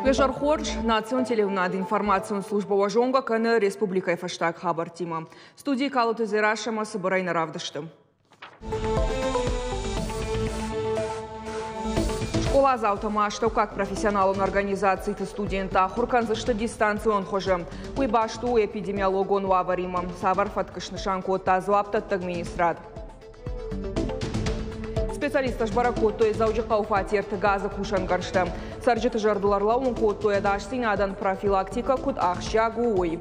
Уе хорз, национ телеуынынады информацион службӕ уӕ зонгӕ кӕны республикӕйы фӕстаг хабӕрттимӕ. Студийы Калоты Дзерассӕмӕ цыбырӕй нӕ равдысты. Скъоладзаутӕ ма астӕуккаг профессионалон организациты студенттӕ ахуыр кӕндзысты дистанцион хуызы. Уый баст у эпидемиологон уавӕримӕ. Цавӕр фӕтк снысан кодта дзуапдӕттӕг министрад? Специалисттӕ сбӕрӕг кодтой Дзӕуджыхъӕуы фатерты газы кусӕнгӕрзтӕ. Цӕрджыты зӕрдыл ӕрлӕууын кодтой, ӕдасдзинадӕн профилактикӕ куыд ахсджиаг у, уый.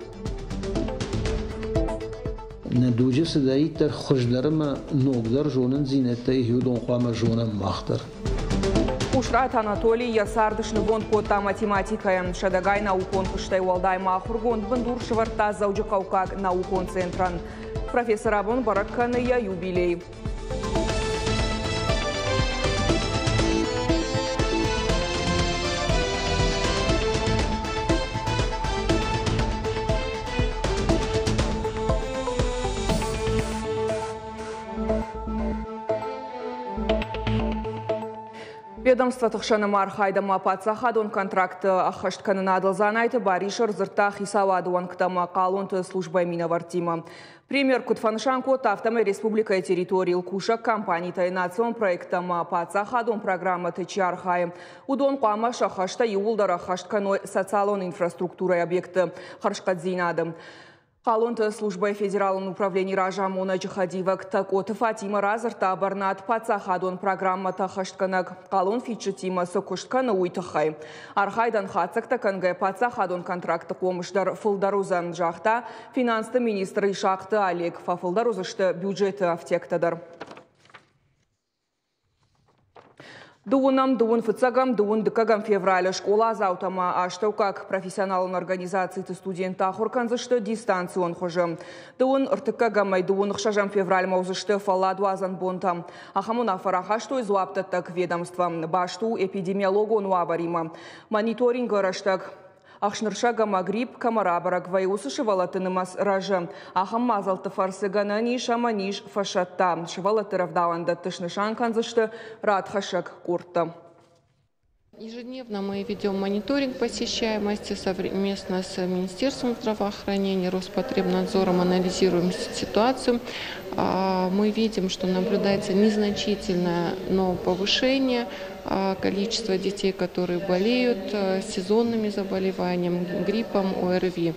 Нӕ дуджы цыдӕриддӕр хуыздӕр ӕмӕ ногдӕр зонындзинӕдтӕ ис, уыдон хъуамӕ зонӕм мах дӕр. Къусраты Анатолий йӕ цард снывонд кодта математикӕйӕн. Сӕдӕгай наукон куыстӕй уӕлдай ма ахуыргонд бындур сӕвӕрдта Дзӕуджыхъӕуккаг наукон центрӕн. Профессор абон бӕрӕг кӕны йӕ юбилей. Ведомствоты хсӕн ӕмархайд ӕмӕ паддзахадон контрактты ӕххӕсткӕнынадыл Дзанайты Барис ӕрдзырдта хицауады уӕнгтӕ ӕмӕ хъалонты службӕйы минӕвӕрттимӕ. Премьер куыд фӕнысан кодта, афтӕмӕй республикӕйы территорийыл кусӕг компанитӕй национ проекттӕ ӕмӕ паддзахадон программӕты чи архайы, уыдон хъуамӕ сӕ хӕстӕ иууылдӕр ӕххӕст кӕной социалон инфраструктурӕйы объектты хӕрзхъӕддзинады. Хъалонты службӕйы федералон управленийы разамонӕджы хӕдивӕг Тӕкъоты Фатимӕ радзырдта бӕрнад паддзахадон программӕтӕ ӕххӕстгӕнӕг хъалонфидджытимӕ цы куыст кӕны, уый тыххӕй. Архайдӕн хатдзӕгтӕ кӕнгӕ паддзахадон контрактты хъомыс дӕр фылдӕр уыдзӕн, загъта финансты министр Исахъты Олег. Фӕфылдӕр уыдзысты бюджеты ӕфтиӕгтӕ дӕр. Дыууынӕм, дыууын фыццӕгӕм, дыууын дыккӕгӕм февралы скъоладзаутӕ ӕмӕ астӕуккаг профессионалон организациты студенттӕ ахуыр кӕндзысты дистанцион хуызы. Дыууын ӕртыккӕгӕмӕй дыууын ӕхсӕзӕм февральмӕ уыдзысты фӕлладуадзӕн бонтӕ. Ахӕм уынаффӕ рахастой дзуапдӕттӕг ведомство. Баст у эпидемиологон уавӕримӕ. Мониторингы рӕстӕг ӕхснырсӕг ӕмӕ грипп кӕмӕ рабӕрӕг вӕййы, уыцы сывӕллӕтты нымӕц рӕзы. Ахӕм мадзӕлтты фӕрцы гӕнӕн ис ӕмӕ низ фӕсӕтта. Сывӕллӕтты рӕвдауӕндӕтты снысан кӕндзысты радхӕссӕг къордтӕ. Ежедневно мы ведем мониторинг посещаемости совместно с Министерством здравоохранения, Роспотребнадзором анализируем ситуацию. Мы видим, что наблюдается незначительное, но повышение количества детей, которые болеют сезонными заболеваниями, гриппом, ОРВИ.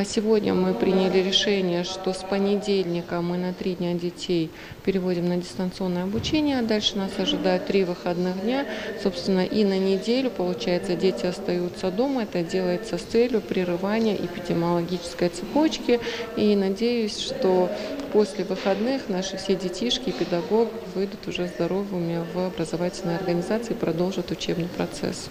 Сегодня мы приняли решение, что с понедельника мы на 3 дня детей переводим на дистанционное обучение, а дальше нас ожидают 3 выходных дня. Собственно, и на неделю, получается, дети остаются дома. Это делается с целью прерывания эпидемиологической цепочки. И надеюсь, что после выходных наши все детишки и педагоги выйдут уже здоровыми в образовательные организации и продолжат учебный процесс.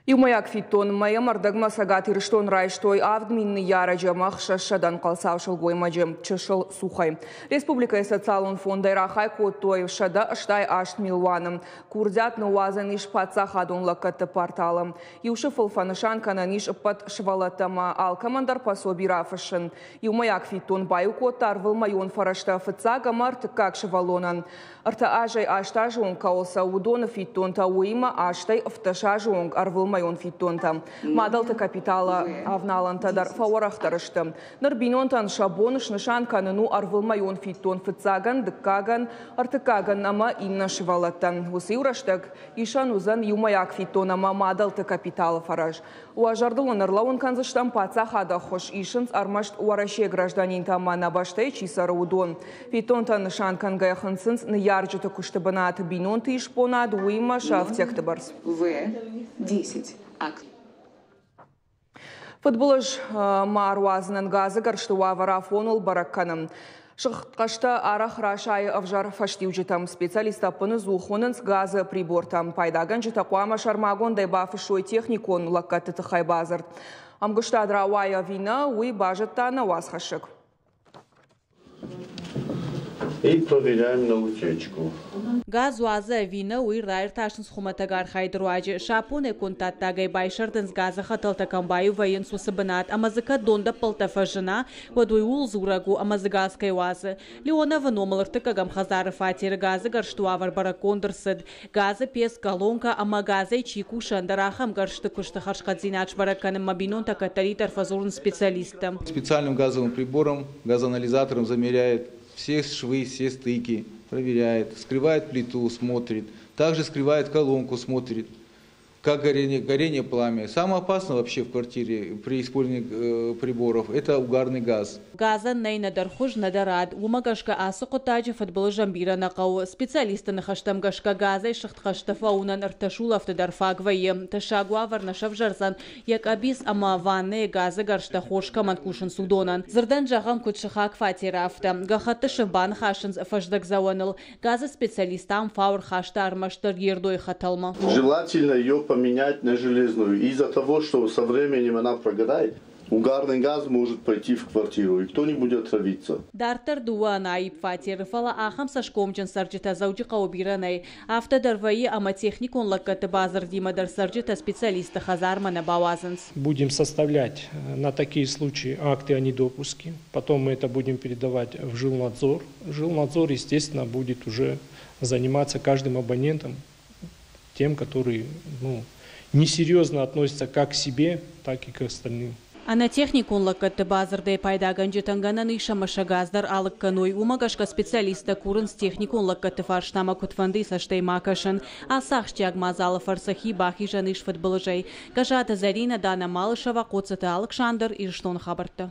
Иумӕйаг фиддон мӕйӕ ӕрдӕгмӕ Цӕгат Ирыстон райстой 7 000 ныййарӕджы ӕмӕ 600 ӕнхъӕлцау сылгоймаджы чысыл цухӕй. Республикӕйы социалон фондӕй рахай кодтой 188 милуаны. Курдиат ныууадзӕн ис паддзахадон лӕггӕдты порталы. Иу сыфыл фӕнысан кӕнӕн ис ӕппӕт сывӕллӕттӕ ӕмӕ алкӕмӕн дӕр пособи рафыссын. Иумӕйаг фиддон баиу кодта ӕрвылмӕйон фӕрӕзтӕ фыццаг ӕмӕ ӕртыккаг сывӕллонӕн. 3 азӕй 8 азы онг кӕуыл цӕуы, уыдоны фиддонтӕ, уыимӕ 8-ӕй 17 азы онг ӕрвылмӕйон фиддонтӕ. Мадӕлты капиталы авналӕнтӕ дӕр фӕуӕрӕхдӕр сты. Ныр бинонтӕн сӕ бон снысан кӕнын у ӕрвылмӕйон фиддон фыццагӕн, дыккагӕн, ӕртыккагӕн ӕмӕ иннӕ сывӕллӕттӕн. Уыцы иу рӕстӕг исӕн уыдзӕн иумӕйаг фиддон ӕмӕ мадӕлты капиталы фӕрӕз. Уӕ зӕрдыл ын ӕрлӕууын кӕндзыстӕм, паддзахады ӕххуыс исынц ӕрмӕст Уӕрӕсейы гражданинтӕ ӕмӕ нӕ бӕстӕйы чи цӕры, уыдон. Фиддонтӕ нысан кӕнгӕйӕ хынцынц ныййарджыты куысты бынат, бинонты исбонад, уыимӕ сӕ ӕфтиӕгты бӕрц. В10. Фыдбылыз ма ӕруадзынӕн газы гӕрзты уавӕр афоныл бӕрӕг кӕнын. Сыгъдхъӕстӕ арӕх расайы ӕвзӕр фӕстиуджытӕм. Специалисттӕ ӕппыныдзух уынынц газы прибортӕ. Пайдагӕнджытӕ хъуамӕ сӕрмагондӕй бафыссой техникон лӕггӕдты тыххӕй бадзырд. Ӕмгуыстад рауайы ӕви нӕ, уый базыдта нӕ уацхӕссӕг. И проверяем на утечку. Газ уадзы ӕви нӕ, уый раиртасынц хуымӕтӕг архайды руаджы. Сапонӕй конд дӕттагӕй байсӕрдынц, газы хӕтӕлтӕ кӕм баиу вӕййынц, уыцы бынат. Ӕмӕ дзы кӕд дондӕппӕлтӕ фӕзына, уӕд уый ууыл дзурӕг у, ӕмӕ дзы газ кӕй уадзы. Леоновы номыл ӕртыккӕгӕм хӕдзары фатеры газы гӕрзты уавӕр бӕрӕггонд ӕрцыд. Газы пец, колонкӕ ӕмӕ газӕй чи кусы, ӕндӕр ахӕм гӕрзты куысты хӕрзхъӕддзинад сбӕрӕг кӕнынмӕ бинонтӕ кӕддӕриддӕр фӕдзурынц специалисттӕм. Специальным газовым прибором, газоанализатором замеряет все швы, все стыки, проверяет, вскрывает плиту, смотрит. Также вскрывает колонку, смотрит, как горение, горение пламя. Самое опасное вообще в квартире при использовании приборов – это угарный газ. Газӕн нӕй нӕдӕр хуыз, нӕдӕр ад. Уымӕ гӕсгӕ ацы хъуыддаджы фыдбылызӕн бирӕ нӕ хъӕуы. Специалистты ныхӕстӕм гӕсгӕ газӕй сыгъд хъӕстӕ фӕуынӕн ӕртӕ сулӕфты дӕр фаг вӕййы. Тӕссаг уавӕр нӕ сӕвзӕрдзӕн, йӕ къӕбиц ӕмӕ ваннӕйы газы гӕрзтӕ хорз кӕмӕн кусынц, уыдонӕн. Дзырдӕн зӕгъӕм, куыд сыхаг фатеры, афтӕ. Гӕххӕтты сыф баныхасынц фӕздӕгдзӕуӕныл. Газы специалист ам фау ӕрхаста ӕрмӕстдӕр ердойы хӕтӕлмӕ. Желательно ее поменять на железную. Из-за того, что со временем она прогорает, угарный газ может пойти в квартиру, и кто-нибудь отравится. Дарддӕр дыууӕ ӕнаипп фатеры, фӕлӕ ахӕм цӕсгомджын цӕрджытӕ Дзӕуджыхъӕуы бирӕ нӕй. Афтӕ дӕр вӕййы, ӕмӕ техникон лӕггӕдты бадзырдимӕ дӕр цӕрджытӕ специалистты хӕдзармӕ нӕ бауадзынц. Будем составлять на такие случаи акты о недопуске. Потом мы это будем передавать в жилнадзор. Жилнадзор, естественно, будет уже заниматься каждым абонентом, тем, который, ну, несерьезно относится как к себе, так и к остальным. Ӕнӕ техникон лӕггӕдты бадзырдӕй пайдагӕнджытӕн гӕнӕн ис, ӕмӕ сӕ газ дӕр алыг кӕной. Уымӕ гӕсгӕ специалисттӕ курынц техникон лӕггӕдты фарстамӕ куыдфӕндыйы цӕстӕй ма кӕсын. Ацы ахсджиаг мадзалы фӕрцы хи бахизӕн ис фыдбылызӕй. Гӕзаты Зӕринӕ, Дана Малышева, Хъоцыты Алыксандр, Ирыстоны хабӕрттӕ.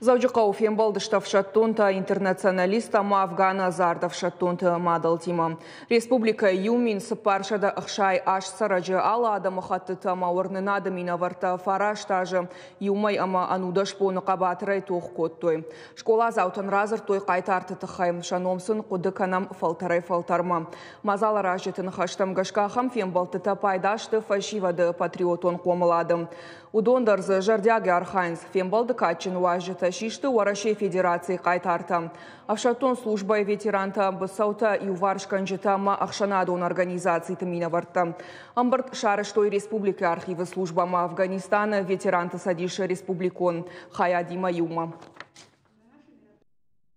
Дзӕуджыхъӕуы фембӕлдысты ӕфсӕддонтӕ, интернационалисттӕ ӕмӕ Афганы ӕдзард ӕфсӕддонты мадӕлтимӕ. Республикӕйы 1468 цӕрӕджы, алы адӕмыхӕттыты ӕмӕ уырнынады минӕвӕрттӕ 9 азы, 1 мӕй ӕмӕ 11 боны хъӕбатырӕй тох кодтой. Скъоладзаутӕн радзырдтой хъайтарты тыххӕй, сӕ ном сын хъуыды кӕнӕм фӕлтӕрӕй фӕлтӕрмӕ. Мадзаларазджыты ныхӕстӕм гӕсгӕ ахӕм фембӕлдтытӕ пайда сты фӕсивӕды патриотон хъомылады. Уыдон дӕр дзы зӕрдиагӕй архайынц. Фембӕлды кадджын уазджытӕ систы Уӕрӕсейы Федерацийы хъайтартӕ, ӕфсӕддон службӕйы ветерантӕ, быцӕутӕ иуварсгӕнджытӕ ӕмӕ ӕхсӕнадон организациты минӕвӕрттӕ. Ӕмбырд сарӕзтой республикӕйы архивы службӕ ӕмӕ Афганистаны ветеранты цӕдисы республикон хайадимӕ иумӕ.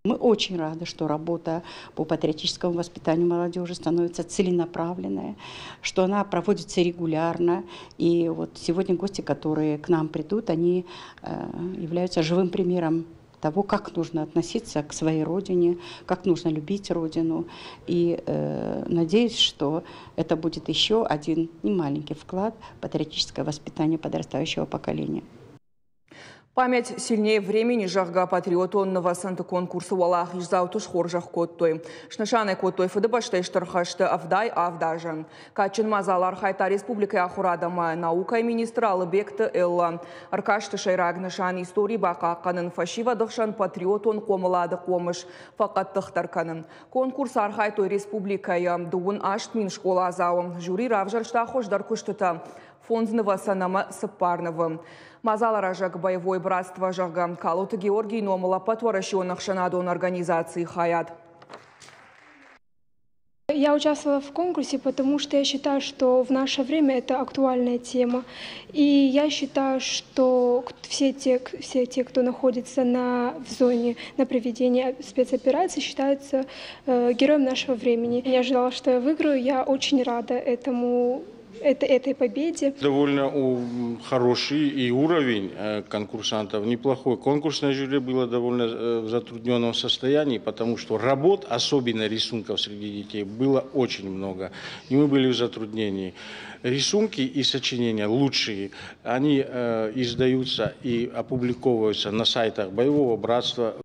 Мы очень рады, что работа по патриотическому воспитанию молодежи становится целенаправленная, что она проводится регулярно. И вот сегодня гости, которые к нам придут, они являются живым примером того, как нужно относиться к своей родине, как нужно любить родину. И надеюсь, что это будет еще один немаленький вклад в патриотическое воспитание подрастающего поколения. «Память сильнее времени», зӕгъгӕ, патриотон нывӕцӕнты конкурсы уӕлахиздзауты схорзӕх кодтой. Снысан кодтой Фыдыбӕстӕйы Стыр хӕсты 77 азы. Кадджын мадзалы архайдта республикӕйы ахуырад ӕмӕ наукӕйы министр Алыбегты Элла. Ӕркасты сӕйраг нысан истори бахъахъхъӕнын, фӕсивӕды хсӕн патриотон хъомылады хъомыс фӕхъӕддыхдӕр кӕнын. Конкурсы архайдтой республикӕйы 38 000 скъоладзауы. Жюри равзӕрста хуыздӕр куыстытӕ фондз нывӕцӕн ӕмӕ цыппар нывы. Мадзаларазӕг «Боевое братство», зӕгъгӕ, Калоты Георгийы номыл ӕппӕтуӕрӕсеон ӕхсӕнадон организацийы хайад. Я участвовала в конкурсе, потому что я считаю, что в наше время это актуальная тема. И я считаю, что все те, кто находится в зоне на проведении спецоперации, считаются героем нашего времени. Я ожидала, что я выиграю. Я очень рада этой победе. Довольно хороший и уровень конкурсантов, неплохой. Конкурсное жюри было довольно в затрудненном состоянии, потому что работ, особенно рисунков среди детей, было очень много. И мы были в затруднении. Рисунки и сочинения лучшие, они издаются и опубликовываются на сайтах Боевого братства.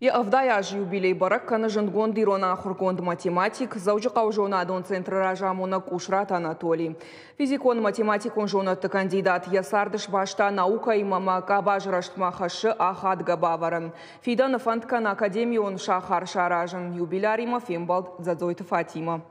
Йӕ 70 азы юбилей бӕрӕг кӕны зындгонд ирон ахуыргонд, математик, Дзӕуджыхъӕуы зонадон центры разамонӕг Къусраты Анатолий. Физикон-математикон зонӕдты кандидат йӕ цард сбаста наукӕимӕ ӕмӕ къабазы рӕзтмӕ хӕссы ахадгӕ бавӕрӕн. Фидӕны фӕнд кӕны академион сахар саразын. Юбиляримӕ фембӕлд Дзӕдзойты Фатимӕ.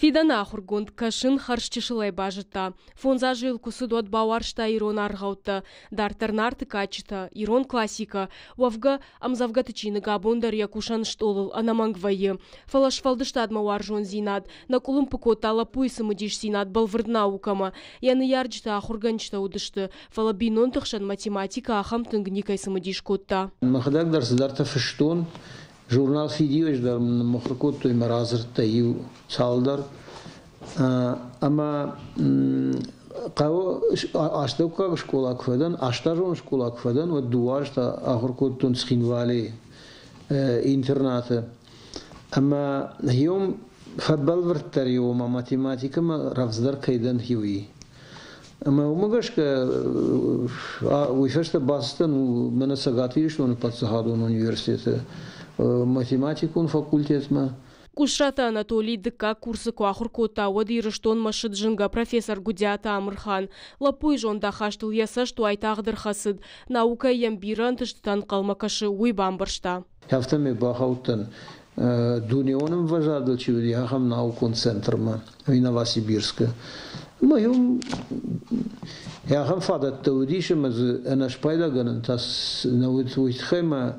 Фидӕны ахуыргонд кӕсын хӕрзчысылӕй базыдта. Фондз азы йыл куы цыд, уӕд бауарзта ирон аргъӕуттӕ, дарддӕр Нарты кадджытӕ, ирон классикӕ. Уӕвгӕ, ӕмдзӕвгӕты чиныг абон дӕр йӕ кусӕн стъолыл ӕнӕмӕнг вӕййы. Фӕлӕ сфӕлдыстадмӕ уарзондзинад нӕ къуылымпы кодта лӕппуйы цымыдисдзинад бӕлвырд наукӕмӕ. Йӕ ныййарджытӕ ахуыргӕнджытӕ уыдысты, фӕлӕ бинонты хсӕн математикӕ ахӕм тынг никӕй цымыдис кодта. Мӕхӕдӕг дӕр цыдӕртӕ фыстон, Журнал «Фидиуӕджы» дӕр мын ныммыхуыр кодтой мӕ радзырдтӕ иу цалдӕр. Ӕмӕ хъӕуы астӕуккаг скъола куы фӕдӕн, астазон скъола куы фӕдӕн, уӕд дыууӕ азы та ахуыр кодтон Цхинвалийы интернаты. Ӕмӕ иум фӕбӕлвырддӕр и, ома математикӕмӕ рӕвдздӕр кӕй дӕн, уый. Ӕмӕ уымӕ гӕсгӕ уый фӕстӕ бацыдтӕн мӕнӕ Цӕгат Ирыстоны паддзахадон университеты математикон факультетмӕ. Къусраты Анатолий дыккаг курсы куы ахуыр кодта, уӕд Ирыстонмӕ ссыд зынгӕ профессор Гуыдиаты Амырхан. Лӕппуйы зондахастыл йӕ цӕст уайтагъд ӕрхӕцыд. Наукӕйы йӕм бирӕ ӕнтыстытӕ ӕнхъӕлмӕ кӕсы, уый бамбӕрста. Афтӕмӕй бахаудтӕн дунеон ӕмвӕзадыл чи уыди, ахӕм наукон центрмӕ Новосибирскы. Ӕмӕ иу ахӕм фадӕттӕ уыдис, ӕмӕ дзы ӕнӕспайдагӕнӕн та нӕ уыд, уый тыххӕй мӕ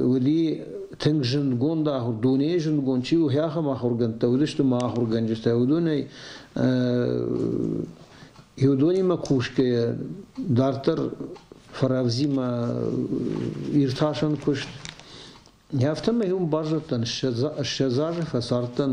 уыди тынг зындгонд ахуыр, дунейы зындгонд чи у, ахӕм ахуыргӕндтӕ уыдысты мӕ ахуыргӕнджытӕ. Уыдонӕй уыдонимӕ кусгӕйӕ дарддӕр фӕрӕвдзимӕ иртасӕн куыст. Афтӕмӕй уым баззадтӕн, 20 азы фӕцардтӕн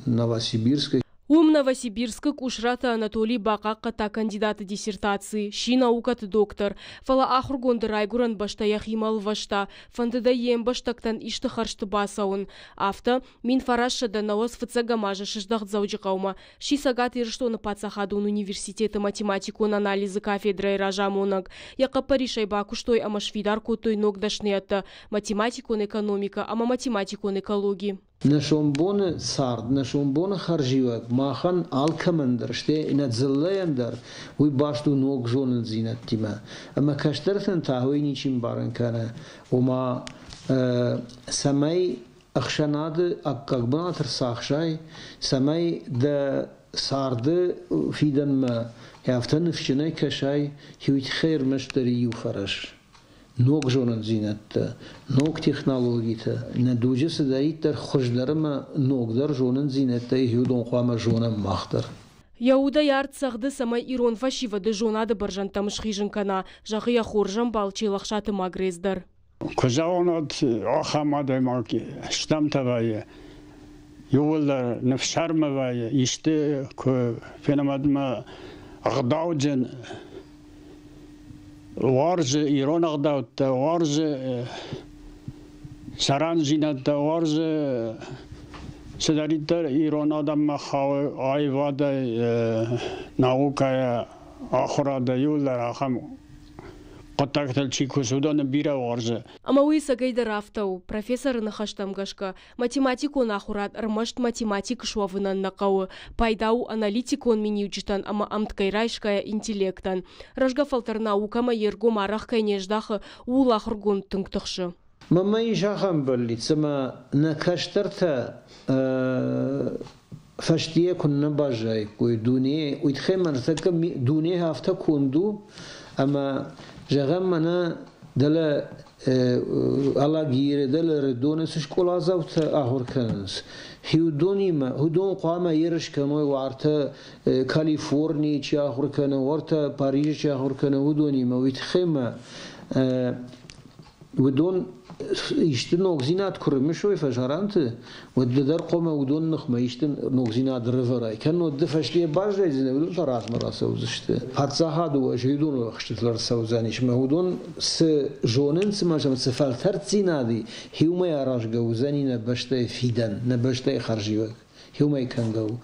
Новосибирскы. Уым Новосибирскы Къусраты Анатолий бахъахъхъӕдта кандидаты диссертаци, сси наукӕты доктор, фӕлӕ ахуыргонды райгуырӕн бӕстӕ йӕхимӕ ӕлвӕста, фӕндыд ӕй йе мбӕстӕгтӕн исты хӕрзты бацӕуын. Афтӕ, 1990 фыццӕгӕм азы сыздӕхт Дзӕуджыхъӕумӕ, сси Цӕгат Ирыстоны паддзахадон университеты математикон анализы кафедрӕйы разамонӕг. Йӕ хъӕппӕрисӕй бакуыстой ӕмӕ сфидар кодтой ног дӕсныйӕдтӕ математикон экономикӕ ӕмӕ математикон экологи. Нӕ сомбоны цард, нӕ сомбоны хӕрзиуӕг махӕн алкӕмӕн дӕр, стӕй нӕ дзыллӕйӕн дӕр уый баст у ног зонындзинӕдтимӕ. Ӕмӕ кӕстӕртӕн та уый ничи мбарын кӕны, ома цӕмӕй ӕхсӕнады аккаг бынат ӕрцахсай, цӕмӕй дӕ царды фидӕнмӕ афтӕ ныфсджынӕй кӕсай, уый тыххӕй ӕрмӕстдӕр иу фӕрӕз. Ног зонындзинӕдтӕ, ног технологитӕ, нӕ дуджы цыдӕриддӕр хуыздӕр ӕмӕ ногдӕр зонындзинӕдтӕ уыдон хъуамӕ зонӕм мах дӕр. Йӕ удӕй арт цӕгъды, цӕмӕй ирон фӕсивӕды зонады бӕрзӕндтӕм схизын кӕна, зӕгъы йӕ хорзӕмбал Челӕхсаты Магрез дӕр. Куы зӕгъон, уӕд ахӕм адӕймаг стӕмтӕ вӕййы, иууылдӕр ныфсӕрмы вӕййы, исты куы фенӕм, уӕд мӕ ӕгъдауджын уарзы ирон ӕгъдӕуттӕ, уарзы сӕрӕндзинӕдтӕ, уарзы цыдӕриддӕр ирон адӕммӕ хауы аивадӕй, наукӕйӕ, ахуырадӕй, иууылдӕр ахӕм хъуыддӕгтыл чи кусы, уыдоны бирӕ уарзы. Ӕмӕ уый ӕцӕгӕйдӕр афтӕ у. Профессоры ныхӕстӕм гӕсгӕ, математикон ахуырад ӕрмӕст математик суӕвынӕн нӕ хъӕуы, пайда у аналитикон миниуджытӕн ӕмӕ ӕмткӕй райсгӕйӕ интеллектӕн. Рӕзгӕ фӕлтӕр наукӕмӕ йе ргом арӕх кӕй не здахы, ууыл ахуыргонд тынг тыхсы. Мӕнмӕ ис ахӕм бӕллиц, ӕмӕ нӕ кӕстӕртӕ фӕстийӕ куыннӕ баззаиккой дуне, уый тыххӕй мӕ ныртӕккӕ дуне афтӕ конд у, ӕмӕ, зӕгъӕм, мӕнӕ дӕлӕ Алагиры, дӕлӕ Рыдоны цы скъоладзаутӕ ахуыр кӕнынц, уыдонимӕ, уыдон хъуамӕ ерыс кӕной уартӕ Калифорнийы чи ахуыр кӕны, уартӕ Парижы чи ахуыр кӕны, уыдонимӕ. Уый тыххӕй мӕ уыдон исты ногдзинад куы рымысой фӕсарӕнты, уӕд ды дӕр хъуамӕ уыдон ныхмӕ исты ногдзинад рывӕрай. Кӕннод ды фӕстейӕ баззайдзынӕ, уыдон та размӕ рацӕудзысты. Паддзахады уӕз уыдоны ӕхстытыл ӕрцӕудзӕнис ӕмӕ уыдон цы зонынц ӕмӕ сӕм цы фӕлтӕрддзинад и, иумӕ аразгӕ уыдзӕни нӕ бӕстӕйы фидӕн, нӕ бӕстӕйы хӕрзиуӕг. Иумӕ кӕнгӕ у.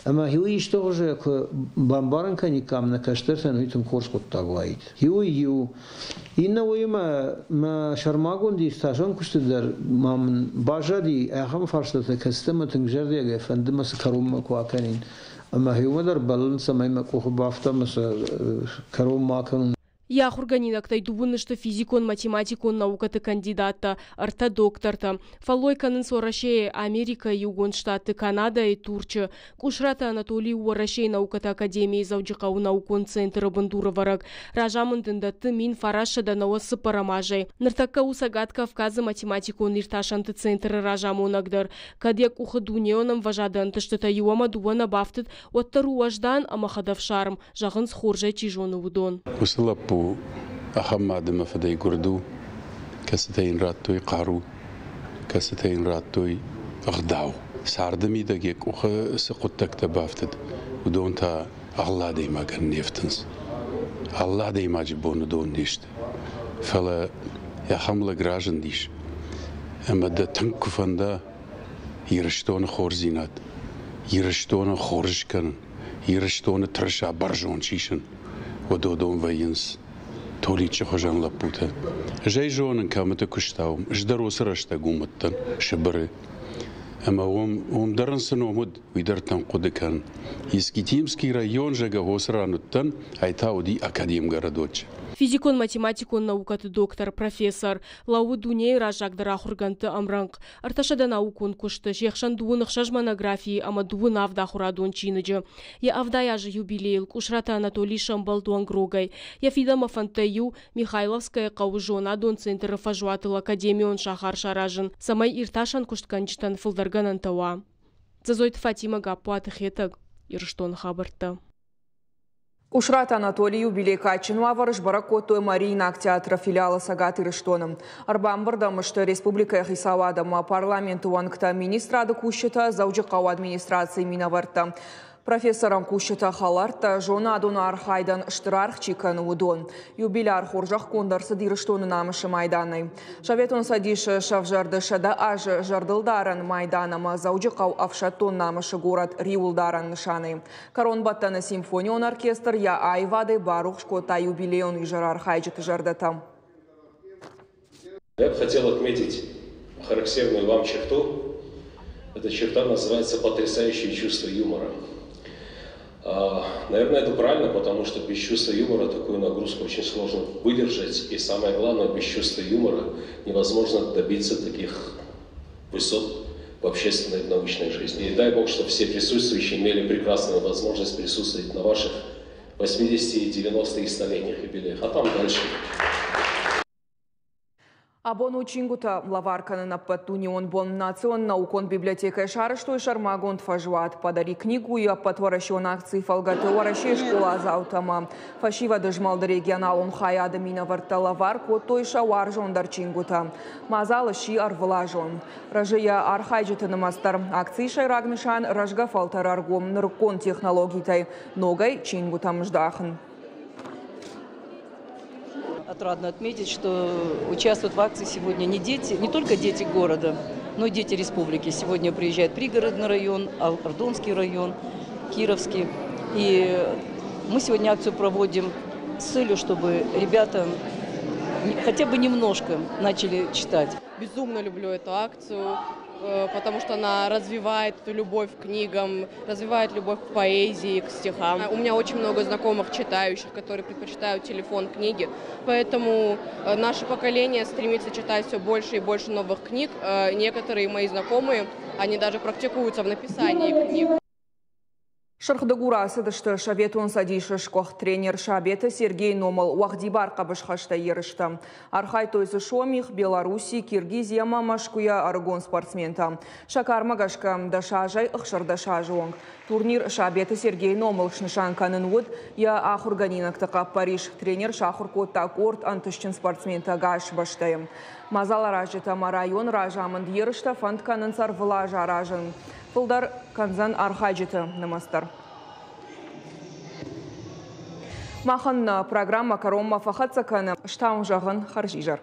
Ӕмӕ иу исты хуызы куы бамбарын кӕниккам нӕ кӕстӕртӕн, уый тынг хорз хъуыддаг уаид. Иуӕй иу. Иннӕ уыимӕ мӕ сӕрмагонд иртасӕн куысты дӕр ма мын баззади ахӕм фарстатӕ, кӕцытӕ мӕ тынг зӕрдиагӕй фӕнды мӕ цы кӕронмӕ куы акӕнин. Ӕмӕ иумӕ дӕр бӕллын, цӕмӕй мӕ къухы бафта ӕмӕ сӕ кӕронмӕ акӕнон. Йӕ ахуыргӕнинӕгтӕй дыууын сты физикон-математикон наукӕты кандидаттӕ, ӕртӕ доктортӕ. Фӕллой кӕнынц Уӕрӕсейы, Америкӕйы Иугонд Штатты, Канадӕйы, Турчы. Къусраты Анатолий у Уӕрӕсейы наукӕты академийы Дзӕуджыхъӕуы наукон центры бындурӕвӕрӕг. Разамынд ын дӕтты 1994 азӕй. Ныртӕккӕ у Цӕгат Кавказы математикон иртасӕнты центры разамонӕг дӕр. Кӕд йӕ къухы дунеон ӕмвӕзады ӕнтыстытӕ иу ӕмӕ дыууӕ нӕ бафтыд, уӕддӕр у уӕздан ӕмӕ хӕдӕфсарм, зӕгъынц, хорзӕй чи зоны, уыдон. Уыцы лӕппу ахӕм мад ӕмӕ фыдӕй гуырд у, кӕцытӕ йын радтой хъару, кӕцытӕ йын радтой ӕгъдау. Царды мидӕг йӕ къухы цы хъуыддӕгтӕ бафтыд, уыдон та алы адӕймагӕн не фтынц. Алы адӕймаджы бон уыдон не сты. Фӕлӕ ахӕм лӕг разындис, ӕмӕ дӕ тынг куы фӕнда Ирыстоны хорздзинад, Ирыстоны хорз скӕнын, Ирыстоны тырыса бӕрзонд сисын, уӕд уыдон вӕййынц Толиччы хуызӕн лӕппутӕ. Ӕз ӕй зонын, кӕмыты куыстауым, ӕз дӕр уыцы рӕстӕг уым уыдтӕн, Сыбыры. Ӕмӕ уым, уым дӕр ын цы ном уыд, уый дӕр тынг хъуыды кӕн. Искитимский район, зӕгъгӕ, уыцы ран уыдтӕн, ай та уыди Академгородочы. Физикон-математикон наукӕты доктор, профессор, лӕууы дунейы раззагдӕр ахуыргӕндты ӕмрӕнхъ. Ӕртӕсӕдӕ наукон куысты, се хсӕн дыууын ӕхсӕз монографийы ӕмӕ дыууын авд ахуырадон чиныджы. Йӕ 70 азы юбилейыл Къусраты Анатолий сӕмбӕлд уӕнгрогӕй. Йӕ фидӕнмӕ фӕндтӕй иу Михайловскӕйы хъӕуы зонадон центры фӕзуатыл академион сахар саразын, цӕмӕй иртасӕн куыстгӕнджытӕн фылдӕр гӕнӕнтӕ уа. Дзӕзойты Фатимӕ, Гаппуаты Хетӕг, Ирыстоны хабӕрттӕ. Къусраты Анатолий юбилей кадджын уавӕры сбӕрӕг кодтой Мариинаг театры филиалы Цӕгат Ирыстоны. Ӕрбамбырд ӕм сты республикӕйы хицауад ӕмӕ парламенты уӕнгтӕ, министрады кусджытӕ, Дзӕуджыхъӕуы администрацийы минӕвӕрттӕ. Профессорӕн кусджытӕ хӕлӕрттӕ, зонадон архайдӕн стыр аргъ чи кӕны, уыдон. Юбиляр хорзӕхгонд ӕрцыд Ирыстоны намысы майданӕй. Советон Цӕдисы сӕвзӕрды 100 азы зӕрдылдарӕн майдан ӕмӕ Дзӕуджыхъӕу ӕфсӕддон намысы горӕт риуылдарӕн нысанӕй. Кӕронбӕттӕны симфонион оркестр йӕ аивадӕй барухс кодта юбилейон изӕры архайджыты зӕрдӕтӕ. Я бы хотел отметить характерную вам черту. Эта черта называется потрясающее чувство юмора. Наверное, это правильно, потому что без чувства юмора такую нагрузку очень сложно выдержать. И самое главное, без чувства юмора невозможно добиться таких высот в общественной и научной жизни. И дай Бог, чтобы все присутствующие имели прекрасную возможность присутствовать на ваших 80, 90 и 100-летних юбилеях, а там дальше. Абон у чингуытӕ лӕвар кӕнын ӕппӕтдунеон бон. Национ наукон библиотекӕйы сарӕзтой сӕрмагонд фӕзуат. Подари книгу-йы ӕппӕтуӕрӕсеон акцийы фӕлгӕты Уӕрӕсейы скъоладзаутӕ ӕмӕ фӕсивӕды змӕлды регионалон хайады минӕвӕрттӕ лӕвар кодтой сӕ уарзондӕр чингуытӕ. Мадзал сси ӕрвылазон. Рӕзы йӕ архайджыты нымӕц дӕр. Акцийы сӕйраг нысан рӕзгӕ фӕлтӕры ӕргом нырыккон технологитӕй ногӕй чингуытӕм здахын. Отрадно отметить, что участвуют в акции сегодня не дети, не только дети города, но и дети республики. Сегодня приезжает пригородный район, Ардонский район, Кировский. И мы сегодня акцию проводим с целью, чтобы ребята хотя бы немножко начали читать. Безумно люблю эту акцию, потому что она развивает эту любовь к книгам, развивает любовь к поэзии, к стихам. У меня очень много знакомых читающих, которые предпочитают телефон книги, поэтому наше поколение стремится читать все больше и больше новых книг. Некоторые мои знакомые, они даже практикуются в написании книг. Сырх Дыгуры ацыдысты Советон Цӕдисы сгуыхт тренер Сабеты Сергейы номыл уӕгъдибар хъӕбысхӕстӕй ерыстӕ. Архайдтой дзы Сомих, Белорусси, Киргизи ӕмӕ Мӕскуыйӕ ӕрыгон спортсментӕ. Сӕ кармӕ гӕсгӕ 10 азӕй 16 азы онг. Турнир Сабеты Сергейы номыл снысан кӕнын уыд йӕ ахуыргӕнинӕгты хъӕппӕрис. Тренер сахуыр кодта къорд ӕнтыстджын спортсментӕ ӕгас бӕстӕйы. Мадзаларазджытӕ ӕмӕ районы разамынд ерыстӕ фӕнд кӕнынц ӕрвылаз аразын. Фылдӕр кӕндзӕн архайджыты нымӕц дӕр. Махӕн нӕ программӕ кӕронмӕ фӕхӕццӕ кӕны. Стауын зӕгъын хӕрзизӕр.